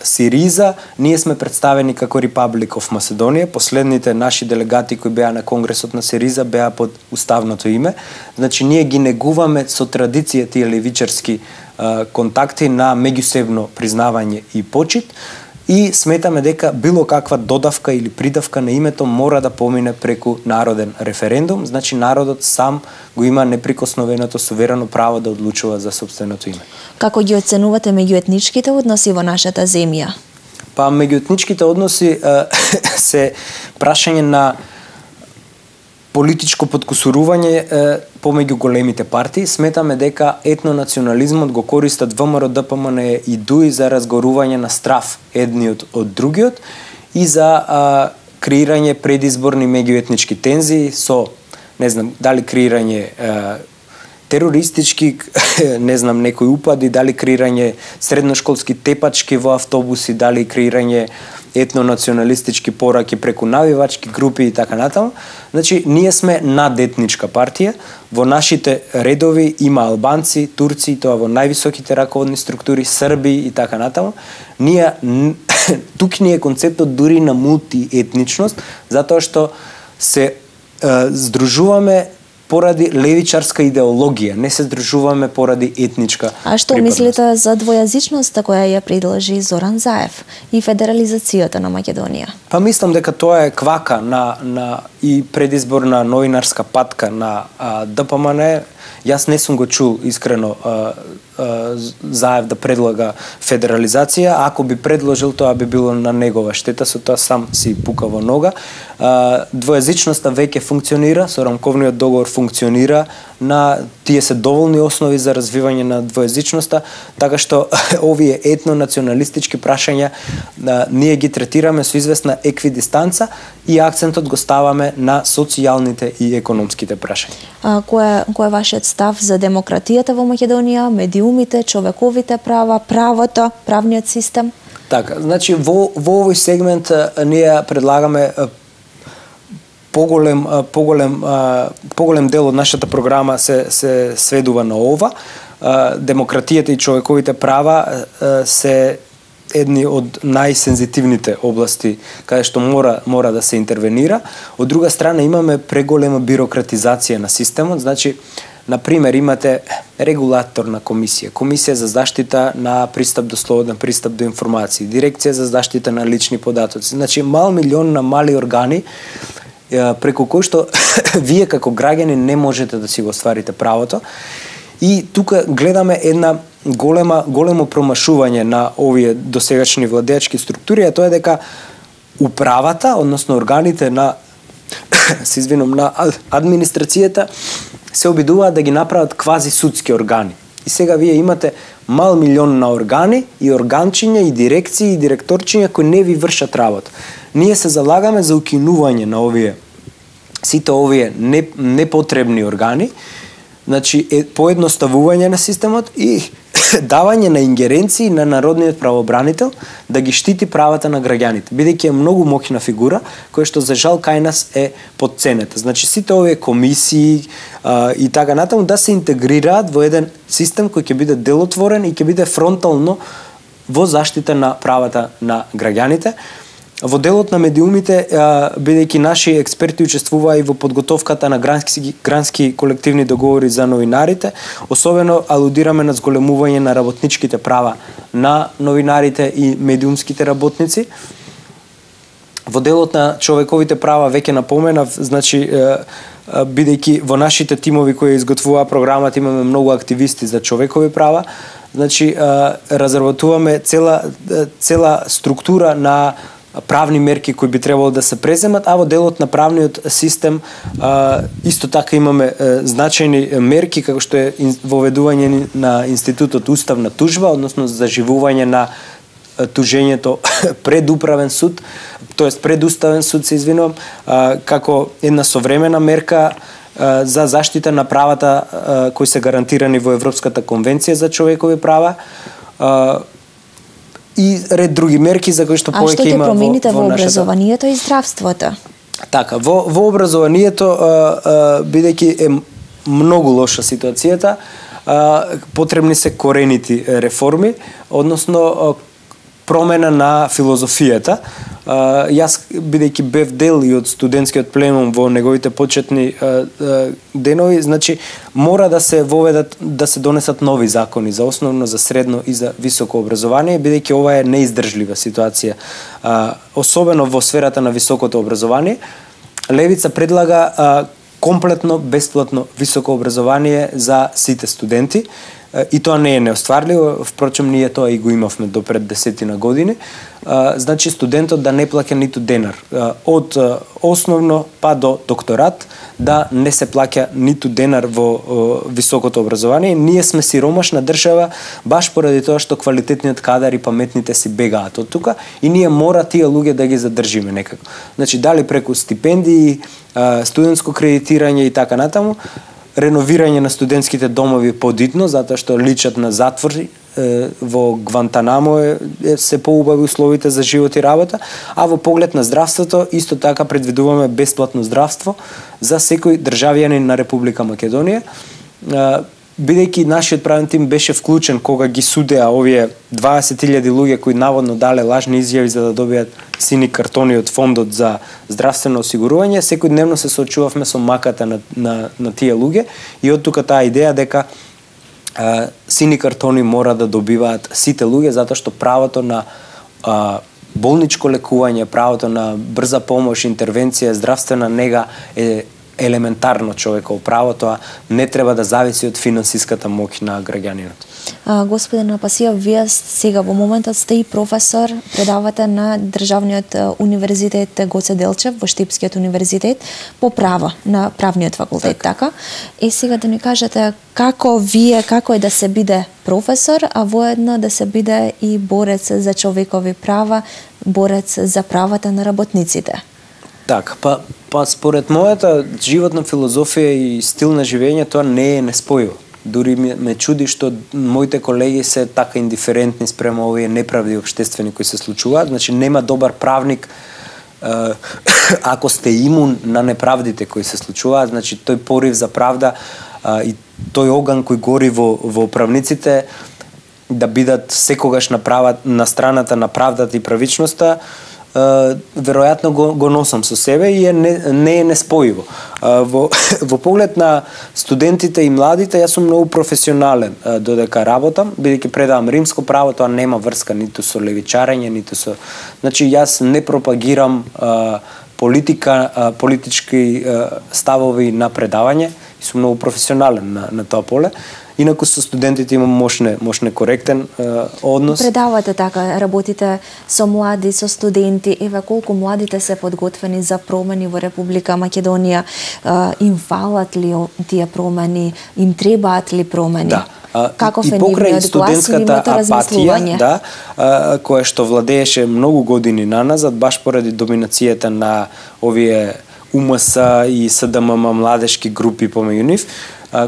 Сириза, ние сме представени како Republic of Macedonia. Последните наши делегати кои беа на конгресот на Сириза беа под уставното име. Значи ние ги негуваме со традиција тие левичарски контакти на меѓусебно признавање и почит. И сметаме дека било каква додавка или придавка на името мора да помине преку народен референдум, значи народот сам го има неприкосновеното суверено право да одлучува за сопственото име. Како ги оценувате меѓуетничките односи во нашата земја? Па меѓуетничките односи се прашање на политичко подкусурување помеѓу големите партии. Сметаме дека етнонационализмот го користат ВМРО, ДПМН и ДУИ за разгорување на страф едниот од другиот и за креирање предизборни меѓуетнички тензии со, не знам, дали креирање терористички, не знам, некои упади, дали креирање средношколски тепачки во автобуси, дали креирање етнонационалистички пораки преку навивачки групи и така натаму. Значи, ние сме надетничка партија. Во нашите редови има албанци, турци, тоа во највисоките раководни структури, срби и така натаму. Тук ни е концептот дури на мултиетничност, затоа што се здружуваме поради левичарска идеологија, не се здружуваме поради етничка припадност. А што мислите за двојазичноста која ја предложи Зоран Заев и федерализацијата на Македонија? Па мислам дека тоа е квака и предизборна новинарска патка на ДПМН. Јас не сум го чул искрено Заев да предлага федерализација. Ако би предложил, тоа би било на негова штета, со тоа сам си пука во нога. Двојазичноста веќе функционира, со рамковниот договор функционира, тие се доволни основи за развивање на двојазичноста, така што овие етнонационалистички прашања ние ги третираме со известна еквидистанца и акцентот го ставаме на социјалните и економските прашања. Кој е вашиот став за демократијата во Македонија, медиумите, човековите права, правото, правниот систем? Така, значи во овој сегмент ние предлагаме поголем дел од нашата програма се сведува на ова. Демократијата и човековите права се едни од најсензитивните области каде што мора да се интервенира. Од друга страна имаме преголема бирократизација на системот, значи на пример имате регулаторна комисија, комисија за заштита на пристап до слободен пристап до информации, дирекција за заштита на лични податоци. Значи милион на мали органи преку кои што вие како граѓани не можете да си го остварите правото. И тука гледаме една големо промашување на овие досегашни владеачки структури, а тоа е дека управата, односно органите на на администрацијата се обидуваат да ги направат квази судски органи. И сега вие имате милион на органи и органчиња и дирекции и директорчиња кои не ви вршат работа. Ние се залагаме за укинување на сите овие непотребни органи, значи поедноставување на системот и давање на ингеренции на народниот правобранител да ги штити правата на граѓаните, бидејќи е многу моќна фигура која што за жал кај нас е потценета. Значи сите овие комисии и така натаму да се интегрираат во еден систем кој ќе биде делотворен и ќе биде фронтално во заштита на правата на граѓаните. Во делот на медиумите, бидејќи наши експерти учествуваа и во подготовката на грански колективни договори за новинарите, особено алудираме на зголемување на работничките права на новинарите и медиумските работници. Во делот на човековите права веќе напоменав, значи бидејќи во нашите тимови кои изготвуваа програмата имаме многу активисти за човекови права, значи разработуваме цела структура на правни мерки кои би требало да се преземат, а во делот на правниот систем исто така имаме значајни мерки како што е воведување на институтот уставна тужба, односно заживување на тужењето пред управен суд, тоест пред уставен суд, се извинувам, како една современа мерка за заштита на правата кои се гарантирани во Европската конвенција за човекови права, и ред други мерки за кои што повеќе има во нашата... А што ќе промените во образованието и здравството? Така, во образованието, бидејќи е многу лоша ситуацијата, потребни се коренити реформи, односно промена на филозофијата. Јас, бидејќи бев дел и од студентскиот пленум во неговите почетни денови, значи мора да се воведат, да се донесат нови закони за основно, за средно и за високо образование, бидејќи ова е неиздржлива ситуација, особено во сферата на високото образование. Левица предлага комплетно бесплатно високо образование за сите студенти, и тоа не е неостварливо, впрочем ние тоа и го имавме до пред 10 години. Значи студентот да не плаќа ниту денар од основно па до докторат, да не се плаќа ниту денар во високото образование. Ние сме сиромашна држава баш поради тоа што квалитетниот кадар и паметните си бегаат од тука и ние мора тие луѓе да ги задржиме некако. Значи дали преку стипендии, студентско кредитирање и така натаму, реновирање на студентските домови подитно, затоа што личат на затвори, во Гвантанамо се поубави условите за живот и работа, а во поглед на здравството исто така предвидуваме бесплатно здравство за секој државјанин на Република Македонија. Бидејќи нашиот правен тим беше вклучен кога ги судеа овие 20.000 луѓе кои наводно дале лажни изјави за да добијат сини картони од фондот за здравствено осигурување, секојдневно се соочувавме со маката на тие луѓе и од тука таа идеја дека сини картони мора да добиваат сите луѓе, затоа што правото на болничко лекување, правото на брза помош, интервенција, здравствена нега е елементарно човеково право, тоа не треба да зависи од финансиската моќ на граѓанинот. Господин Апасиев, вие сега во моментот сте и професор, предавате на Државниот универзитет Гоце Делчев во Штипскиот универзитет по право, на правниот факултет, така? И сега да ни кажете како е да се биде професор, а воедно да се биде и борец за човекови права, борец за правата на работниците? Така, па според мојата животна филозофија и стил на живење тоа не е неспојиво. Дури ме чуди што моите колеги се така индиферентни спрема овие неправди општествени кои се случуваат. Значи нема добар правник ако сте имун на неправдите кои се случуваат. Значи тој порив за правда и тој оган кој гори во правниците да бидат секогаш на страната на правдата и правичноста, веројатно го носам со себе и не е неспојиво. Во поглед на студентите и младите, јас сум многу професионален додека работам, бидејќи предавам римско право, тоа нема врска ниту со левичарење, ниту со... Значи, јас не пропагирам политички ставови на предавање и сум многу професионален на тоа поле. Инаку со студентите имам мошне коректен однос. Предавате така, работите со млади, со студенти, еве колку младите се подготвени за промени во Република Македонија, им фалат ли тие промени, им требаат ли промени? Да. Каков е нивниот глас и нивното размислување? Да, која што владееше многу години наназад, баш поради доминацијата на овие УМС и СДММ младешки групи помеѓу нив,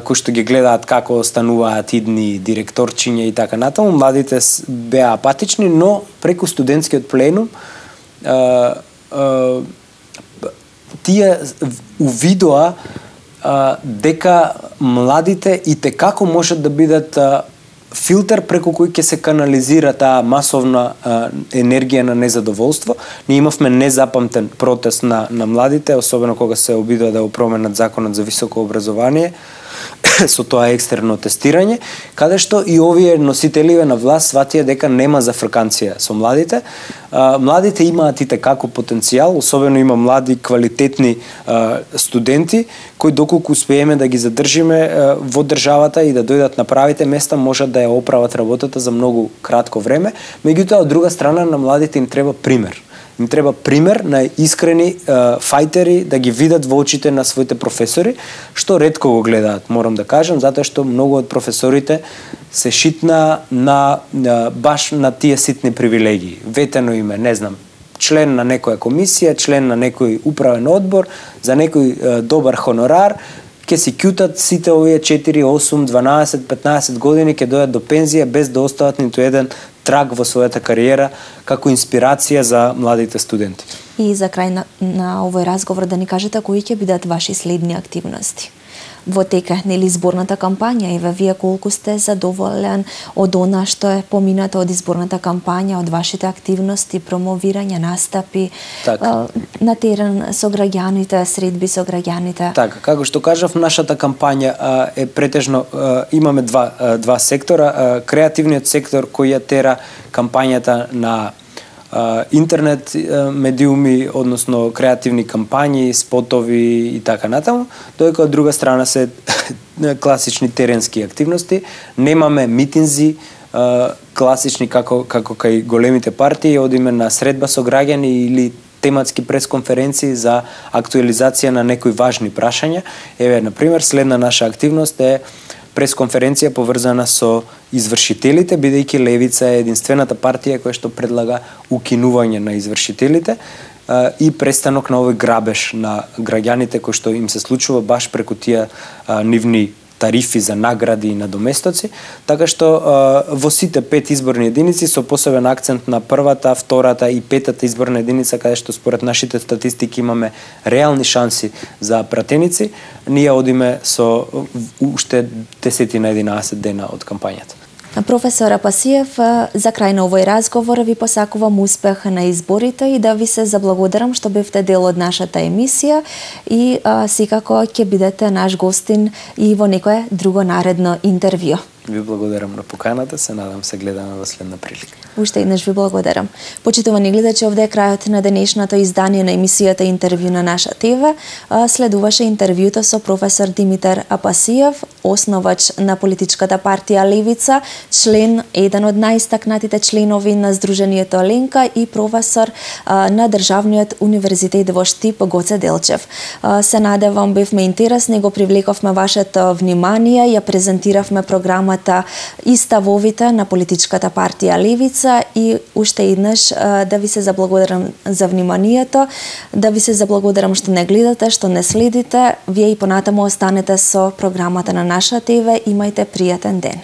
кои што ги гледаат како стануваат идни директорчиња и така натаму, младите беа апатични, но преку студентскиот пленум тие увидоа дека младите и те како можат да бидат филтер преку кој ќе се канализира таа масовна енергија на незадоволство. Ние имавме незапамтен протест на младите, особено кога се обидува да го променат законот за високо образование со тоа екстерно тестирање, каде што и овие носителиве на власт сватија дека нема зафрканција со младите. Младите имаат и како потенцијал, особено има млади квалитетни студенти кои доколку успееме да ги задржиме во државата и да дојдат на правите места, можат да ја оправат работата за многу кратко време. Меѓутоа, од друга страна, на младите им треба пример. Им треба пример на искрени фајтери да ги видат во очите на своите професори, што ретко го гледаат, морам да кажам, затоа што многу од професорите се шитна баш на тие ситни привилегии. Ветено име, не знам, член на некоја комисија, член на некој управен одбор, за некој добар хонорар, ќе си кјутат сите овие 4, 8, 12, 15 години, ќе дојдат до пензија без да остават ниту еден траг во својата кариера како инспирација за младите студенти. И за крај на овој разговор да ни кажете кои ќе бидат ваши следни активности во тека нели изборната кампања, и вие колку сте задоволен од она што е поминато од изборната кампања, од вашите активности, промовирање, настапи на терен со граѓаните, средби со граѓаните? Така, како што кажав, нашата кампања е претежно, имаме два сектора, креативниот сектор кој ја тера кампањата на интернет медиуми, односно креативни кампањи, спотови и така натаму, додека од друга страна се класични теренски активности. Немаме митинзи класични како кај големите партии, одиме на средба со граѓани или тематски пресконференции за актуализација на некои важни прашања. Еве, на пример, следна наша активност е пресконференција поврзана со извршителите, бидејќи Левица е единствената партија која што предлага укинување на извршителите и престанок на овој грабеж на граѓаните кој што им се случува баш преку тие нивни тарифи за награди и надоместоци, така што во сите 5 изборни единици со посебен акцент на првата, втората и петата изборна единица, каде што според нашите статистики имаме реални шанси за пратеници, ние одиме со уште 10 на 11 дена од кампањата. Професор Апасиев, за крај на овој разговор ви посакувам успех на изборите и да ви се заблагодарам што бевте дел од нашата емисија и секако ќе бидете наш гостин и во некое друго наредно интервју. Ви благодарам на поканата, се надам се гледаме во следна прилика. Уште еднаш ви благодарам. Почитувани гледачи, овде е крајот на денешното издание на емисијата Интервју на наша ТВ. Следуваше интервјуто со професор Димитар Апасиев, основач на политичката партија Левица, еден од најистакнатите членови на Сдруженијето Ленка и професор на Државниот универзитет во Штип Гоце Делчев. Се надевам бевме интересни, го привлековме вашето внимание, ја презентиравме програмата и ставовите на политичката партија Левица и уште еднаш да ви се заблагодарам за вниманието, да ви се заблагодарам што не гледате, што не следите. Вие и понатаму останете со програмата на наша ТВ. Имајте пријатен ден.